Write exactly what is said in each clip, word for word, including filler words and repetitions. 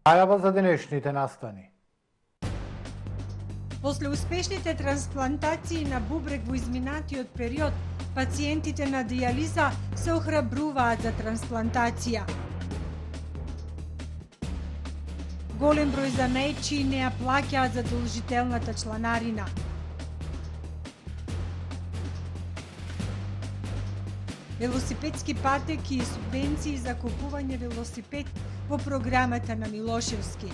Најава за денешните настани. После успешните трансплантации на бубрек во изминатиот период, пациентите на дијализа се охрабруваат за трансплантација. Голем број занаетчии не ја плаќаат задолжителната чланарина. Велосипедски патеки и субвенции за купување велосипед во програмата на Милошевски.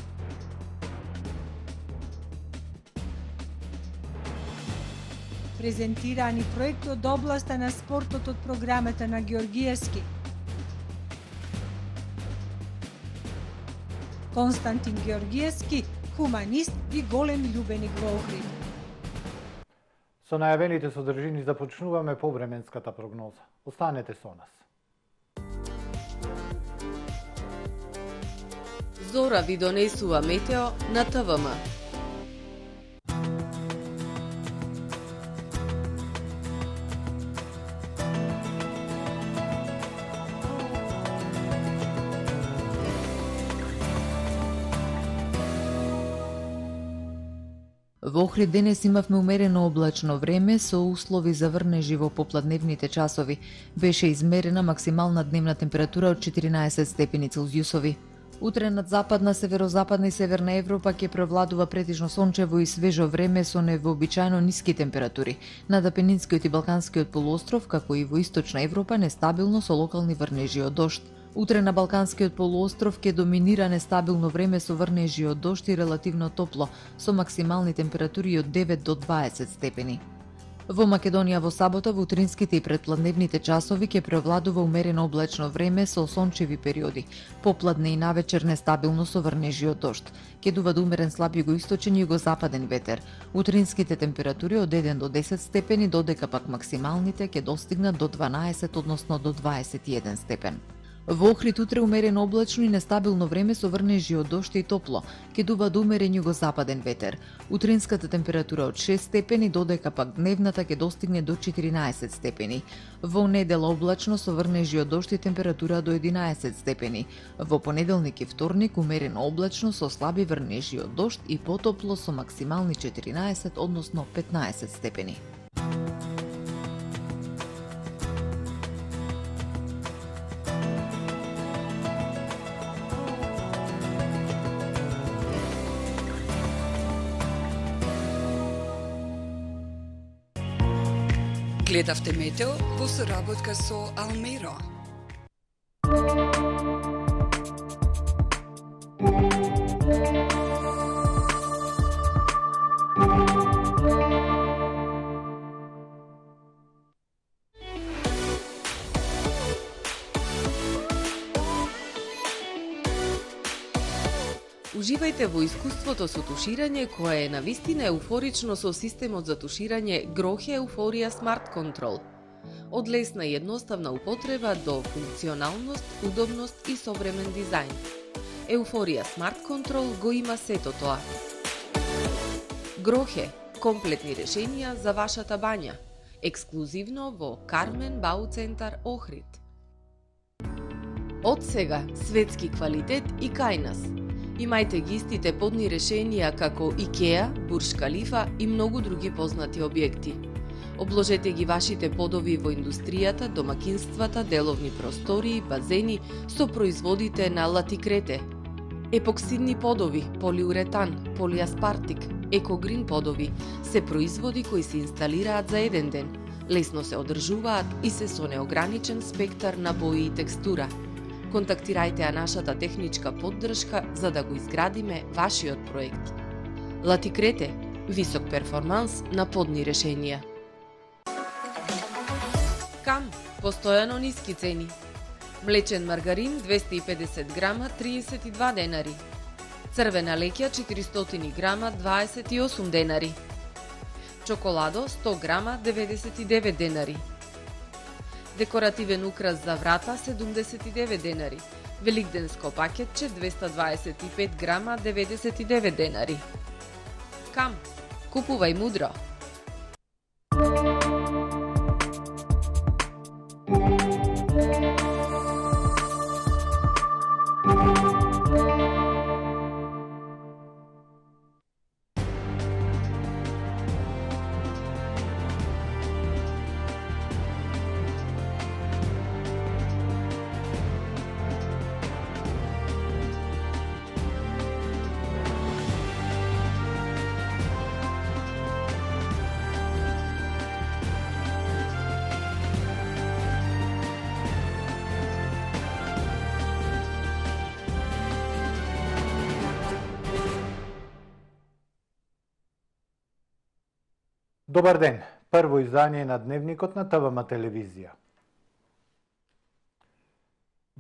Презентирани проекти од областа на спортот од програмата на Георгиевски. Константин Георгиевски, хуманист и голем љубеник во Охрид. Со најавените содржини започнуваме повременската прогноза. Останете со нас. Зора ви донесува метео на ТВМ. Во Охрид денес имавме умерено облачно време со услови за врнежи во попладневните часови. Беше измерена максимална дневна температура од четиринаесет степени Целзиусови. Утре над западна, северозападна и северна Европа ќе превладува претежно сончево и свежо време со невообичаено ниски температури. Над Апенинскиот и Балканскиот полуостров, како и во источна Европа, нестабилно со локални врнежи од дожд. Утре на Балканскиот полуостров ќе доминира нестабилно време со врнежи од дожд и релативно топло, со максимални температури од девет до дваесет степени. Во Македонија во сабота во утринските и предпладневните часови ќе превладува умерено облачно време со сончеви периоди. Попладне и навечер нестабилно со врнежи од дожд. Ќе дува до умерен слаб југоисточен и југозападен ветер. Утринските температури од еден до десет степени, додека пак максималните ќе достигнат до дванаесет, односно до дваесет и еден степен. Во Охрид утре умерено облачно и нестабилно време со врнежи од дожд и топло. Ќе дува до умерен југозападен ветер. Утринската температура од шест степени, додека пак дневната ќе достигне до четиринаесет степени. Во недела облачно со врнежи од дожд и температура до единаесет степени. Во понеделник и вторник умерено облачно со слаби врнежи од дожд и потопло со максимални четиринаесет, односно петнаесет степени. Гледавте метео во соработка со Алмеро. Уживајте во искуството со туширање кое е навистина еуфорично со системот за туширање Грохе Еуфорија Smart Control. Од лесна и едноставна употреба до функционалност, удобност и современ дизајн. Еуфорија Smart Control го има сето тоа. Грохе – комплетни решенија за вашата бања. Ексклузивно во Кармен Бау Центар Охрид. Од сега светски квалитет и кај нас. Имајте ги истите подни решенија како Икеа, Бурж Калифа и многу други познати објекти. Обложете ги вашите подови во индустријата, домакинствата, деловни простории, базени со производите на Латикрете. Епоксидни подови, полиуретан, полиаспартик, екогрин подови се производи кои се инсталираат за еден ден, лесно се одржуваат и се со неограничен спектар на бои и текстура. Контактирајте ја нашата техничка поддршка за да го изградиме вашиот проект. Латикрете – висок перформанс на подни решенија. Кам – постојано ниски цени. Млечен маргарин двесте и педесет грама триесет и два денари. Црвена леќа четиристотини грама дваесет и осум денари. Чоколадо сто грама деветдесет и девет денари. Декоративен украс за врата седумдесет и девет денари. Великденско пакетче двесте дваесет и пет грама деветдесет и девет денари. Кам, купувај мудро. Добар ден, прво издание на Дневникот на ТВМ телевизија.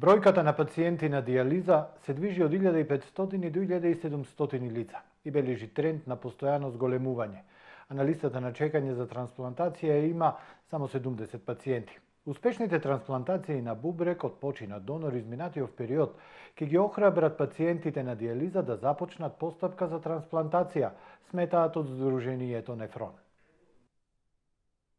Бројката на пациенти на дијализа се движи од илјада и петстотини до илјада и седумстотини лица и бележи тренд на постојано зголемување, а на листата на чекање за трансплантација има само седумдесет пациенти. Успешните трансплантации на бубрек од починат донор изминатиот период ќе ги охрабрат пациентите на дијализа да започнат постапка за трансплантација, сметаат од Сдруженијето Нефрон.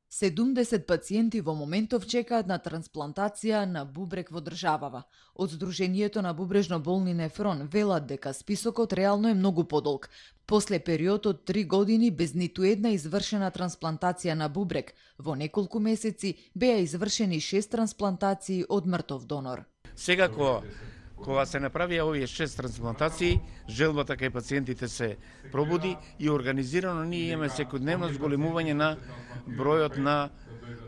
седумдесет пациенти во моментов чекаат на трансплантација на бубрек во државава. Од Сдруженијето на бубрежно болни Нефрон велат дека списокот реално е многу подолг. После период од три години без ниту една извршена трансплантација на бубрек, во неколку месеци беа извршени шест трансплантации од мртов донор. Сега кога кога се направија овие шест трансплантации, желбата кај пациентите се пробуди и организирано ние имаме секојдневно зголемување на бројот на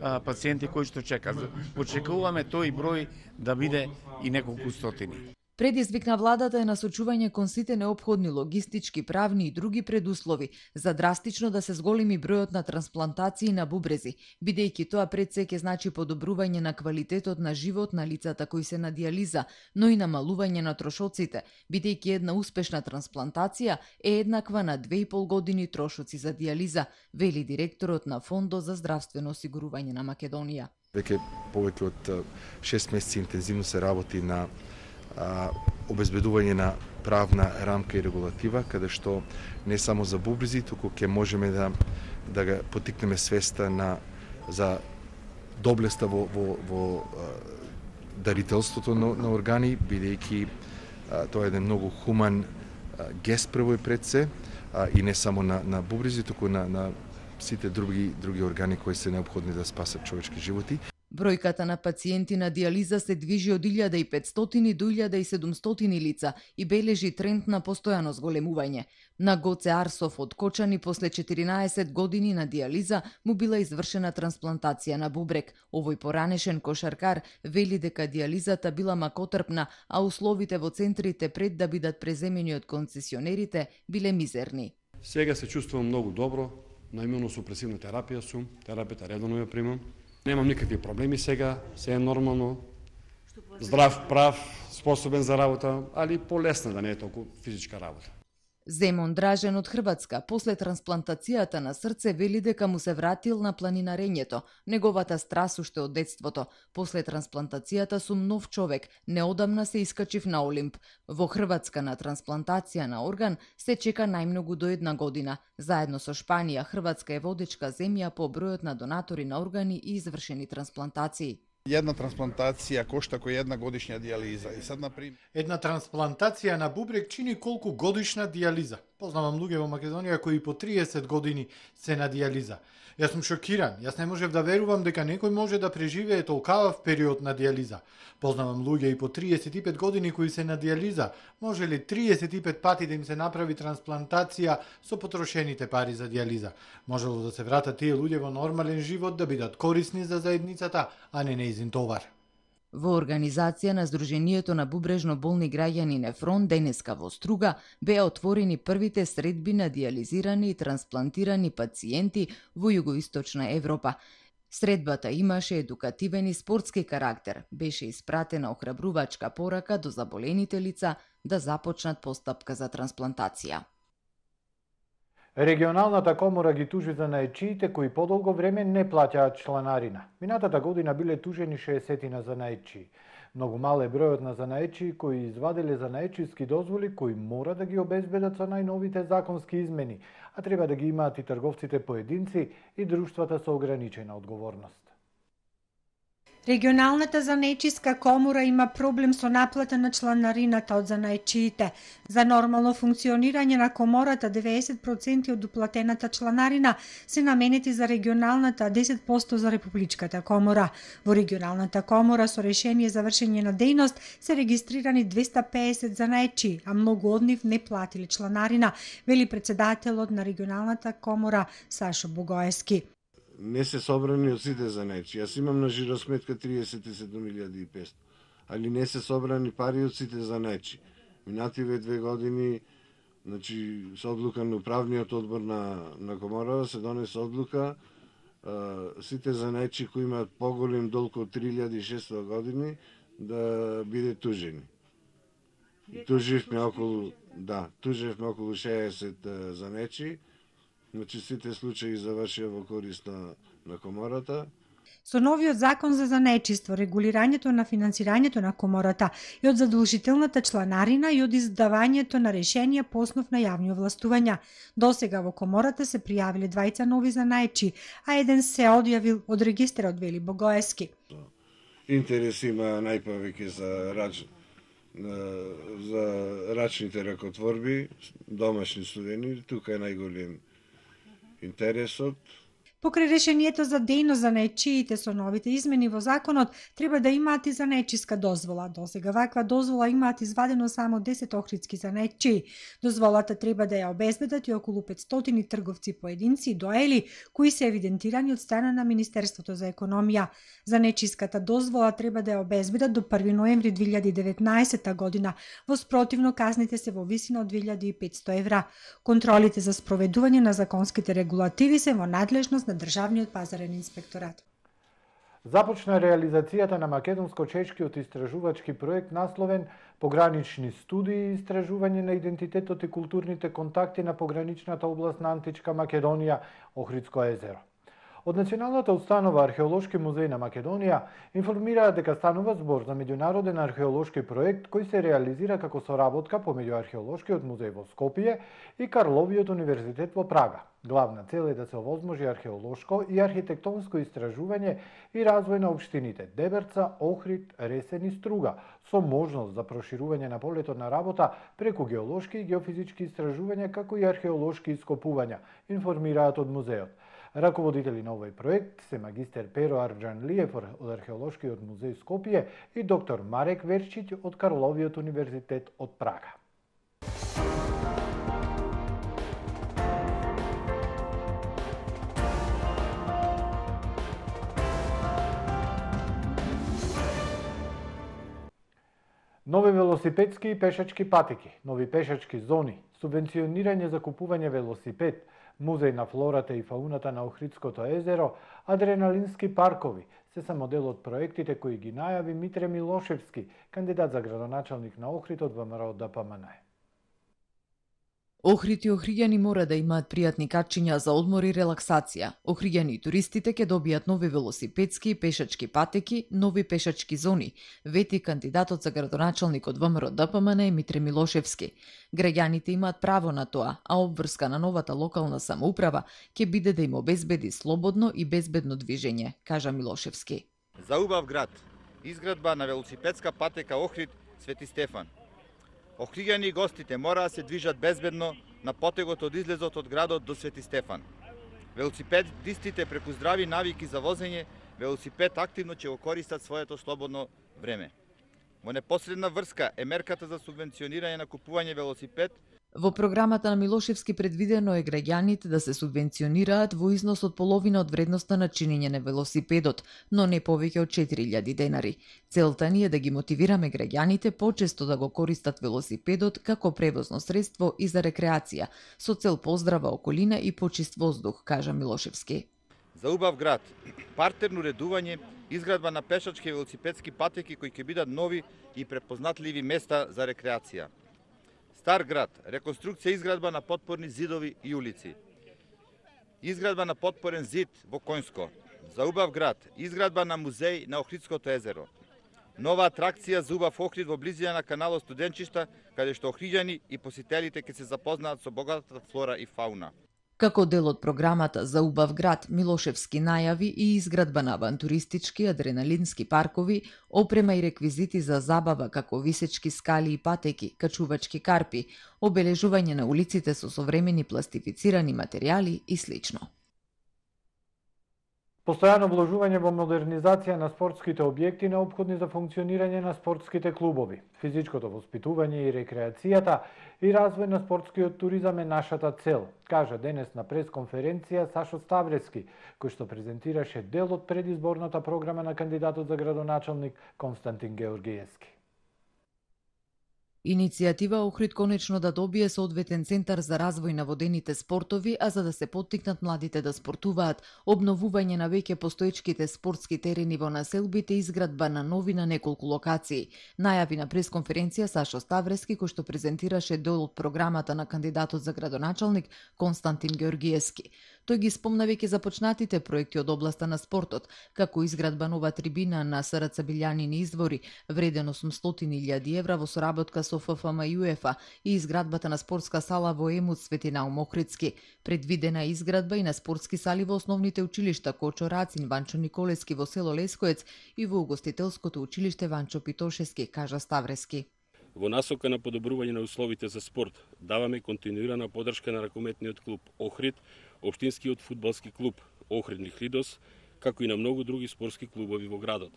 а, пациенти кои што чекаат. Очекуваме тој број да биде и неколку стотини. Предизвик на владата е насочување кон сите неопходни логистички, правни и други предуслови за драстично да се зголеми бројот на трансплантации на бубрези, бидејќи тоа пред се ќе значи подобрување на квалитетот на живот на лицата кои се на дијализа, но и намалување на трошоците, бидејќи една успешна трансплантација е еднаква на две и пол години трошоци за дијализа, вели директорот на Фондот за здравствено осигурување на Македонија. Веќе повеќе од шест месеци интензивно се работи на а, обезбедување на правна рамка и регулатива, каде што не само за бубрези, туку ќе можеме да да ga потикнеме свеста на за доблеста во во во а, дарителството на, на органи, бидејќи а, тоа е еден многу хуман а, гест прво и пред се, а, и не само на на бубрези, туку на на сите други други органи кои се неопходни да спасат човечки животи. Бројката на пациенти на дијализа се движи од илјада и петстотини до илјада и седумстотини лица и бележи тренд на постојано зголемување. На Гоце Арсов од Кочани после четиринаесет години на дијализа му била извршена трансплантација на бубрек. Овој поранешен кошаркар вели дека дијализата била макотрпна, а условите во центрите пред да бидат преземени од концесионерите биле мизерни. Сега се чувствувам многу добро, на имуносупресивна терапија сум, терапијата редовно ја примам. Немам никакви проблеми сега, се е нормално, здрав, прав, способен за работа, али полесна да не е толку физичка работа. Земон Дражен од Хрватска, после трансплантацијата на срце, вели дека му се вратил на планинарењето, неговата страст уште од детството. После трансплантацијата сум нов човек, неодамна се искачив на Олимп. Во Хрватска на трансплантација на орган се чека најмногу до една година. Заедно со Шпанија, Хрватска е водечка земја по бројот на донатори на органи и извршени трансплантации. Една трансплантација кошта кој една годишна дијализа. И сад например, една трансплантација на бубрек чини колку годишна дијализа. Познавам луѓе во Македонија кои по триесет години се на дијализа. Јас сум шокиран. Јас не можев да верувам дека некој може да преживее толкавав период на дијализа. Познавам луѓе и по триесет и пет години кои се на дијализа. Може ли триесет и пет пати да им се направи трансплантација со потрошените пари за дијализа? Можело да се вратат тие луѓе во нормален живот, да бидат корисни за заедницата, а не неизин товар. Во организација на Сдруженијето на бубрежно болни граѓани Нефрон денеска во Струга беа отворени првите средби на дијализирани и трансплантирани пациенти во југоисточна Европа. Средбата имаше едукативен и спортски карактер, беше испратена охрабрувачка порака до заболените лица да започнат постапка за трансплантација. Регионалната комора ги тужи за наечиите кои подолго време не плаќаат чланарина. Минатата година биле тужени шеесет занаечии. Многу мал е бројот на занаечии кои извадиле занаечиски дозволи кои мора да ги обезбедат со најновите законски измени, а треба да ги имаат и трговците поединци и друштвата со ограничена одговорност. Регионалната занаечиска комора има проблем со наплата на чланарината од занаечиите. За нормално функционирање на комората деветдесет проценти од уплатената чланарина се наменети за регионалната, а десет проценти за републичката комора. Во регионалната комора со решение за вршење на дејност се регистрирани двеста педесет занаечии, а многу од нив не платиле чланарина, вели председателот на регионалната комора Сашо Богоевски. Не се собрани од сите занаечи. Јас имам на жиросметка триесет и седум илјади и петстотини, али не се собрани пари од сите занаечи. Минативе две години Значи, со одлука на управниот одбор на, на Коморава се донесе одлука а, сите занајчи кои имаат поголем долг од три илјади и шестстотини години да биде тужени. Туживме околу, да, туживме околу шеесет занајчи, значи сите случаи завршија во корист на, на Комората. Со новиот закон за занајчиство, регулирањето на финансирањето на Комората и од задолжителната чланарина и од издавањето на решенија по основ на јавни овластувања. Досега во Комората се пријавиле двајца нови занајчи, а еден се одјавил од регистарот, вели Богоевски. Интерес има најповеќе за рач, за рачните ракотворби, домашни студени, тука е најголем интересот. Покрај решението за дејност за занајчиите со новите измени во законот, треба да имаат и занајчиска дозвола. Досега ваква дозвола имаат извадено само десет охридски занајчии. Дозволата треба да ја обезбедат и околу петстотини трговци поединци и доели, кои се евидентирани од страна на Министерството за економија. Занајчиската дозвола треба да ја обезбедат до први ноември две илјади и деветнаесетта година, во спротивно казните се во висина од две илјади и петсто евра. Контролите за спроведување на законските регулативи се во надлежност на Државниот пазарен инспекторат. Започна реализацијата на македонско-чешкиот истражувачки проект насловен Погранични студии и истражување на идентитетот и културните контакти на пограничната област на Античка Македонија, Охридско езеро. Од Националната установа Археолошки музеј на Македонија информираат дека станува збор за меѓународен археолошки проект кој се реализира како соработка помеѓу Археолошкиот музеј во Скопје и Карловиот универзитет во Прага. Главна цел е да се овозможи археолошко и архитектонско истражување и развој на општините Деберца, Охрид, Ресен и Струга, со можност за проширување на полетот на работа преку геолошки и геофизички истражувања како и археолошки ископувања, информираат од музеот. Раководители на овој проект се магистер Перо Арџанлиев од Археолошкиот музеј Скопје и доктор Марек Верчиќ од Карловиот универзитет од Прага. Нови велосипедски и пешачки патеки, нови пешачки зони, субвенционирање за купување велосипед, музеј на флората и фауната на Охридското езеро, адреналински паркови се само дел од проектите кои ги најави Митре Милошевски, кандидат за градоначалник на Охрид од ВМРО Д П М Н. Охрид и охриѓани мора да имаат пријатни качиња за одмор и релаксација. Охриѓани и туристите ќе добијат нови велосипедски и пешачки патеки, нови пешачки зони, вети кандидатот за градоначалник од ВМРО Д П М Н Митре Милошевски. Граѓаните имаат право на тоа, а обврска на новата локална самоуправа ќе биде да им обезбеди слободно и безбедно движење, кажа Милошевски. За убав град, изградба на велосипедска патека Охрид Свети Стефан. Охриѓани и гостите мора да се движат безбедно на потегот од излезот од градот до Свети Стефан. Велосипедистите преку здрави навики за возење велосипед активно ќе го користат своето слободно време. Во непосредна врска е мерката за субвенционирање на купување велосипед. Во програмата на Милошевски предвидено е граѓаните да се субвенционираат во износ од половина од вредноста на чинење на велосипедот, но не повеќе од четири илјади денари. Целта ни е да ги мотивираме граѓаните почесто да го користат велосипедот како превозно средство и за рекреација, со цел поздрава околина и почист воздух, кажа Милошевски. За убав град, партерно редување, изградба на пешачки и велосипедски патеки кои ќе бидат нови и препознатливи места за рекреација. Стар град, реконструкција и изградба на потпорни зидови и улици. Изградба на потпорен зид во Коњско. За убав град, изградба на музеј на Охридското езеро. Нова атракција за убав Охрид во близина на каналот Студенчишта, каде што охриѓани и посетелите ќе се запознаат со богатата флора и фауна. Како дел од програмата за убав град, Милошевски најави и изградба на авантуристички, адреналински паркови, опрема и реквизити за забава како висечки скали и патеки, качувачки карпи, обележување на улиците со современи пластифицирани материјали и слично. Постојано вложување во модернизација на спортските објекти неопходни за функционирање на спортските клубови. Физичкото воспитување и рекреацијата и развој на спортскиот туризам е нашата цел, кажа денес на пресконференција Сашо Ставрески, кој што презентираше дел од предизборната програма на кандидатот за градоначалник Константин Георгиевски. Иницијатива Охрид конечно да добие соодветен центар за развој на водените спортови, а за да се поттикнат младите да спортуваат, обновување на веќе постоечките спортски терени во населбите, изградба на нови на неколку локации. Најави на пресконференција Сашо Ставрески, кој што презентираше дел од програмата на кандидатот за градоначалник Константин Георгиевски. Тој ги спомна веќе започнатите проекти од областа на спортот, како изградба нова трибина на СРЦ Билјанини извори, вреден осумстотини илјади евра во соработка со Ф Ф М и УЕФА и изградбата на спортска сала во Емут Светинаум Охридски. Предвидена е изградба и на спортски сали во основните училишта Кочо Рацин, Ванчо Николески во село Лескоец и во угостителското училиште Ванчо Питошевски, кажа Ставрески. Во насока на подобрување на условите за спорт, даваме континуирана поддршка на ракометниот клуб Охрид, општинскиот фудбалски клуб Охрид Лихлидос, како и на многу други спортски клубови во градот.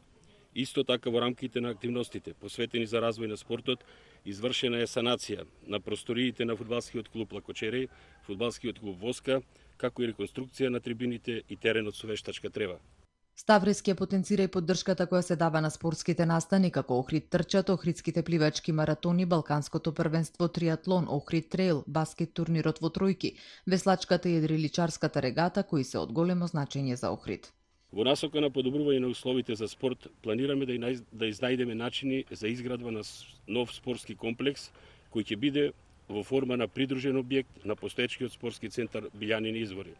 Исто така во рамките на активностите посветени за развој на спортот, извршена е санација на просториите на фудбалскиот клуб Лакочереј, фудбалскиот клуб Воска, како и реконструкција на трибините и теренот со вештачка трева. Ставрески ја потенцира и поддршката која се дава на спортските настани, како Охрид трчат, Охридските пливачки маратони, Балканското првенство триатлон, Охрид трейл, баскет турнирот во тројки, веслачката и едриличарската регата, кои се од големо значење за Охрид. Во насока на подобрување на условите за спорт, планираме да, да изнајдеме начини за изградба на нов спортски комплекс, кој ќе биде во форма на придружен објект на постоечкиот спортски центар Билјанини извори.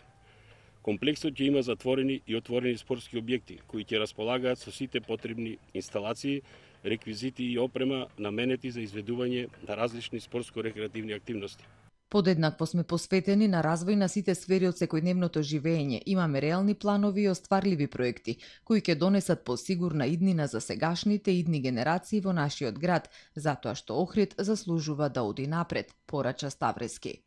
Комплексот ќе има затворени и отворени спортски објекти, кои ќе располагаат со сите потребни инсталации, реквизити и опрема наменети за изведување на различни спортско-рекреативни активности. Подеднакво сме посветени на развој на сите сфери од секојдневното живење. Имаме реални планови и остварливи проекти, кои ќе донесат посигурна иднина за сегашните идни генерации во нашиот град, затоа што Охрид заслужува да оди напред, порача Ставрески.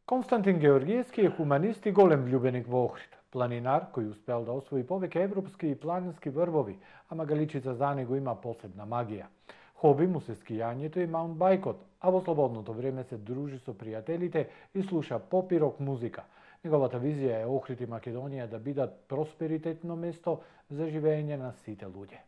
Константин Георгиевски е хуманист и голем влюбеник во Охрид. Планинар кој успел да освои повеќе европски и планински врвови, а Магаличица за него има посебна магија. Хоби му се скијањето и маунтбајкот, а во слободното време се дружи со пријателите и слуша поп и рок музика. Неговата визија е Охрид и Македонија да бидат просперитетно место за живење на сите луѓе.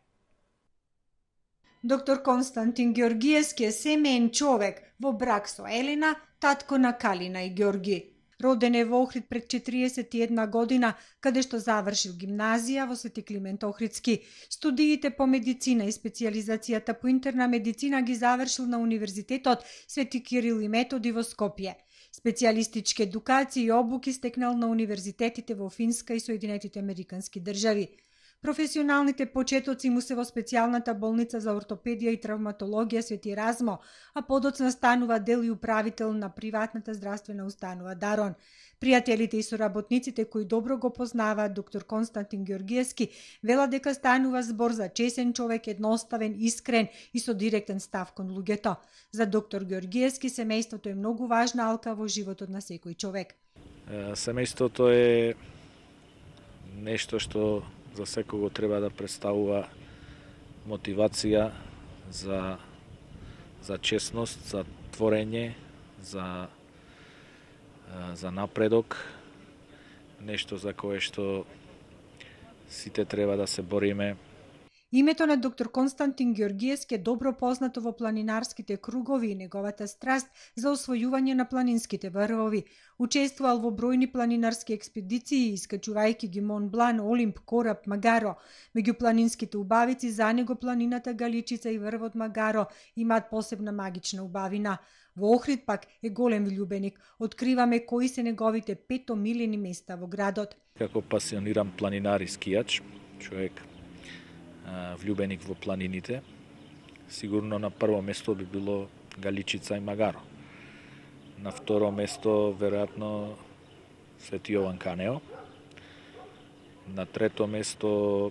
Доктор Константин Георгиевски е семеен човек, во брак со Елена, татко на Калина и Георги. Роден е во Охрид пред четириесет и една година, каде што завршил гимназија во Свети Климент Охридски. Студиите по медицина и специјализацијата по интерна медицина ги завршил на Универзитетот Свети Кирил и Методи во Скопје. Специјалистички едукации и обуки стекнал на универзитетите во Финска и Соединетите Американски држави. Професионалните почетоци му се во специјалната болница за ортопедија и травматологија Свети Размо, а подоцна станува дел и управител на приватната здравствена установа Дарон. Пријателите и соработниците кои добро го познаваат доктор Константин Георгиевски велат дека станува збор за чесен човек, едноставен, искрен и со директен став кон луѓето. За доктор Георгиевски семејството е многу важна алка во животот на секој човек. Семејството е нешто што за секого треба да представува мотивација за, за честност, за творење, за, за напредок, нешто за кое што сите треба да се бориме. Името на доктор Константин Георгиевски е добро познато во планинарските кругови и неговата страст за освојување на планинските врвови. Учествувал во бројни планинарски експедиции, искачувајќи ги Мон Блан, Олимп, Кораб, Магаро. Меѓу планинските убавици за него планината Галичица и врвот Магаро имаат посебна магична убавина. Во Охрид пак е голем влюбеник. Откриваме кои се неговите пет омилени места во градот. Како пасиониран планинар и скијач, човек влюбеник во планините, сигурно на прво место би било Галичица и Магаро. На второ место, веројатно, Свети Јован Канео. На трето место,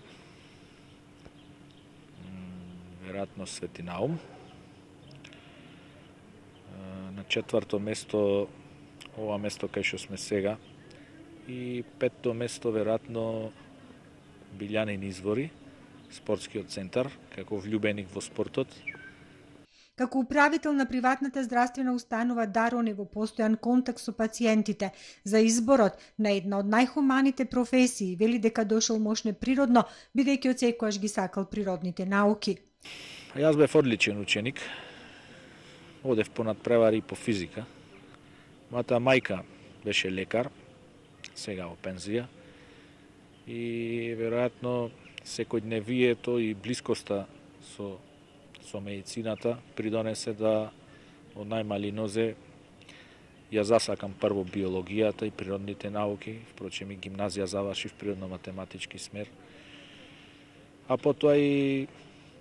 веројатно, Свети Наум. На четврто место, ова место кај што сме сега. И петто место, веројатно, Билјанини извори, спортскиот центар, како влюбеник во спортот. Како управител на приватната здравствена установа Дарон е во постојан контакт со пациентите. За изборот на една од најхуманите професии вели дека дошол мошне природно, бидејќи од секојаш ги сакал природните науки. Јас бев одличен ученик. Одев по надпревари и по физика. Мојата мајка беше лекар, сега во пензија. И веројатно секојдневието и блискоста со со медицината придонесе да од најмали нозе ја засакам прво биологијата и природните науки, впрочем и гимназија завршив природно-математички смер. А потоа и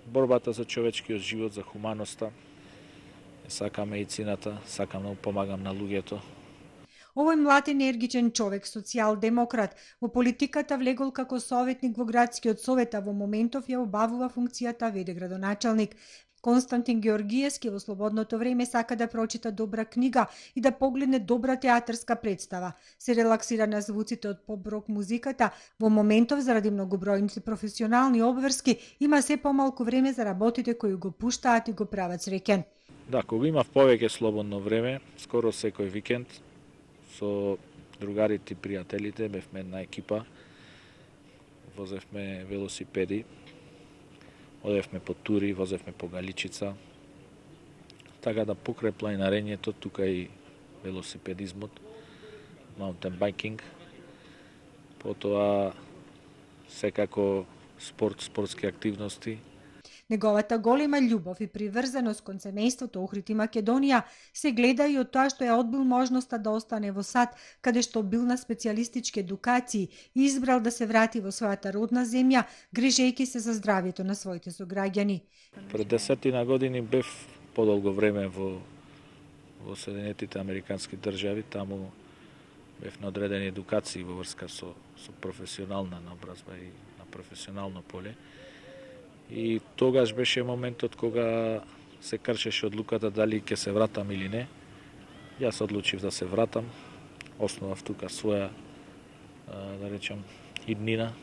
борбата за човечкиот живот, за хуманоста. Сакам медицината, сакам да помагам на луѓето. Овој млад енергичен човек, социјал-демократ, во политиката влегол како советник во градскиот совет, а во моментов ја обавува функцијата веде градоначалник. Константин Георгиевски во слободното време сака да прочита добра книга и да погледне добра театарска представа. Се релаксира на звуците од поп-рок музиката. Во моментов, заради многобројните професионални обврски, има се помалку време за работите кои го пуштаат и го прават среќен. Да, кога имав повеќе слободно време, скоро секој викенд, со другарите и пријателите, бевме една екипа, возевме велосипеди, одевме по тури, возевме по Галичица, така да покрај планинарењето, тука и велосипедизмот, маунтен байкинг, потоа секако спорт, спортски активности. Неговата голема љубов и приврзаност кон семејството Охрид и Македонија се гледа и од тоа што ја одбил можноста да остане во САД, каде што бил на специјалистички едукации и избрал да се врати во својата родна земја, грижејќи се за здравјето на своите сограѓани. Пред десетина години бев подолго време во во Соединетите Американски држави, таму бев на одредени едукации во врска со со професионална наобразба и на професионално поле. И тогаш беше моментот кога се кршеше одлуката дали ќе се вратам или не. Јас одлучив да се вратам. Основав тука своја, да речам, иднина.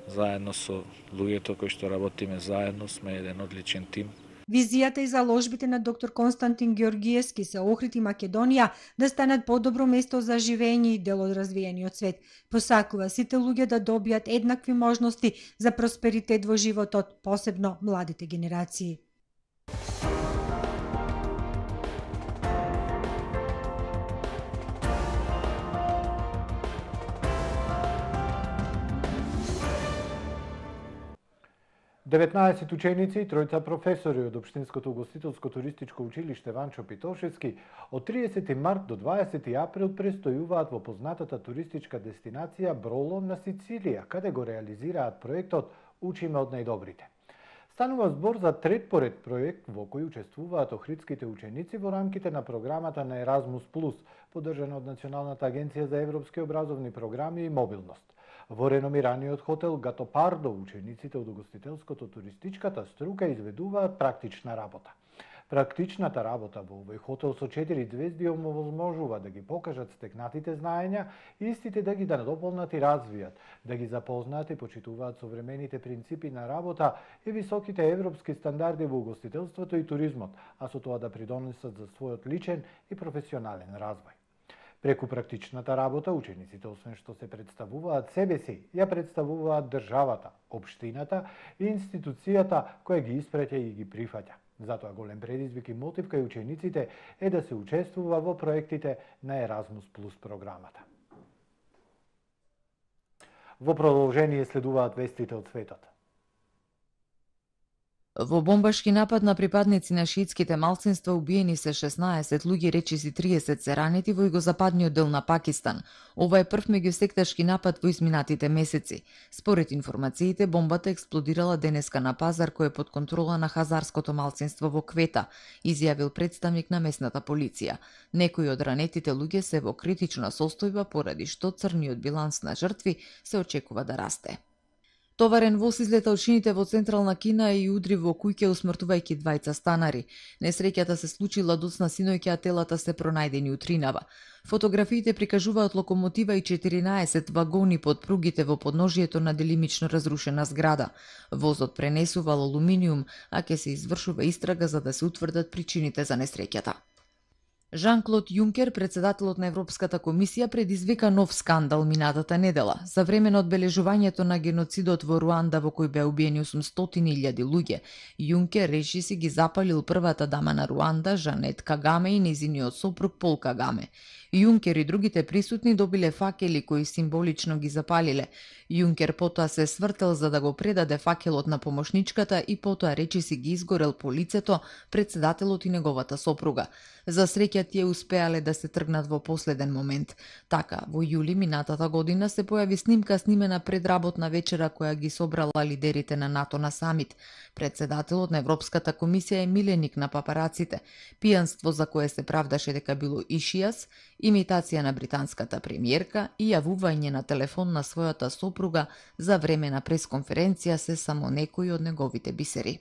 Заедно со луѓето кои што работиме заедно, сме еден одличен тим. Визијата и заложбите на доктор Константин Георгиевски се Охрид и Македонија да станат подобро место за живење и дел од развиениот свет. Посакува сите луѓе да добијат еднакви можности за просперитет во животот, посебно младите генерации. деветнаесет ученици и тројца професори од Општинското угостителско туристичко училиште Ванчо Питошевски од тридесети март до дваесети април престојуваат во познатата туристичка дестинација Броло на Сицилија, каде го реализираат проектот Учиме од најдобрите. Станува збор за трет поред проект во кој учествуваат охридските ученици во рамките на програмата на Еразмус плюс, поддржана од Националната агенција за европски образовни програми и мобилност. Во реномираниот хотел Гатопардо учениците од угостителското туристичката струка изведуваат практична работа. Практичната работа во овој хотел со четири звезди им овозможува да ги покажат стекнатите знаења и истите да ги надополнат и развијат, да ги запознаат и почитуваат современите принципи на работа и високите европски стандарди во угостителството и туризмот, а со тоа да придонесат за својот личен и професионален развој. Преку практичната работа, учениците, освен што се представуваат себе си, ја представуваат државата, општината и институцијата која ги испраќа и ги прифаќа. Затоа голем предизвик и мотив кај учениците е да се учествува во проектите на Еразмус плюс програмата. Во продолжение следуваат вестите од светот. Во бомбашки напад на припадници на шиитските малцинства убиени се шеснаесет луѓе, речиси триесет се ранети во југозападниот дел на Пакистан. Ова е прв меѓусекташки напад во изминатите месеци. Според информациите, бомбата експлодирала денеска на пазар кој е под контрола на хазарското малцинство во Квета, изјавил представник на местната полиција. Некои од ранетите луѓе се во критична состојба поради што црниот биланс на жртви се очекува да расте. Товарен воз излета од шините во централна Кина и удри во куќа, усмртувајќи двајца станари. Несреќата се случила доцна синоќа, а телата се пронајдени утринава. Фотографиите прикажуваат локомотива и четиринаесет вагони под пругите во подножието на делимично разрушена зграда. Возот пренесувал алуминиум, а ќе се извршува истрага за да се утврдат причините за несреќата. Жан-Клод Јункер, председателот на Европската комисија, предизвика нов скандал минатата недела. За време на одбележувањето на геноцидот во Руанда, во кој беа убиени осумстотини илјади луѓе, Јункер речи си ги запалил првата дама на Руанда, Жанет Кагаме, и незиниот сопруг Пол Кагаме. Јункер и другите присутни добиле факели кои символично ги запалиле. Јункер потоа се свртел за да го предаде факелот на помошничката и потоа речи си ги изгорел по лицето председателот и неговата сопруга. За среќа тие успеале да се тргнат во последен момент. Така, во јули минатата година се појави снимка снимена пред работна вечера која ги собрала лидерите на НАТО на самит. Председателот на Европската комисија е миленик на папараците. Пијанство за кое се правдаше дека било ишијас, имитација на британската премиерка и јавување на телефон на својата сопруга за време на пресконференција се само некои од неговите бисери.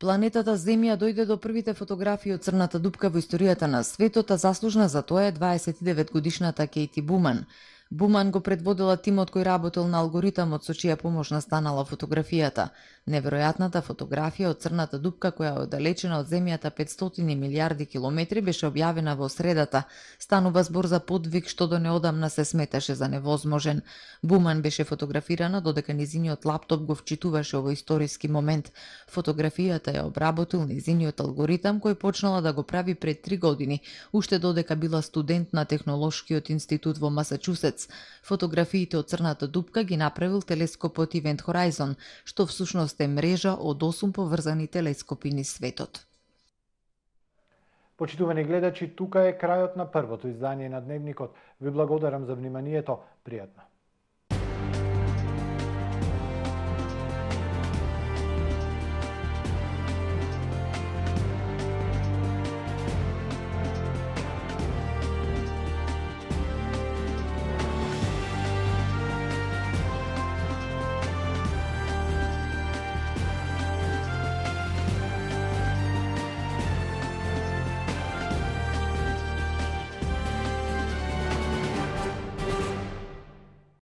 Планетата Земја дојде до првите фотографии од црната дупка во историјата на светот, а заслужна за тоа е дваесет и девет годишната Кейти Буман. Буман го предводила тимот кој работел на алгоритамот со чија помош настанала фотографијата. Неверојатната фотографија од црната дупка која е оддалечена од Земјата петстотини милијарди километри беше објавена во средата. Станува збор за подвиг што до неодамна се сметаше за невозможен. Буман беше фотографирана додека незиниот лаптоп го вчитуваше овој историски момент. Фотографијата ја обработил незиниот алгоритам кој почнала да го прави пред три години, уште додека била студент на Технолошкиот институт во Масачусетс. Фотографиите од црната дупка ги направил телескопот Event Horizon, што всушност е мрежа од осум поврзани телескопи низ светот. Почитувани гледачи, тука е крајот на првото издание на Дневникот. Ви благодарам за вниманието. Пријатно.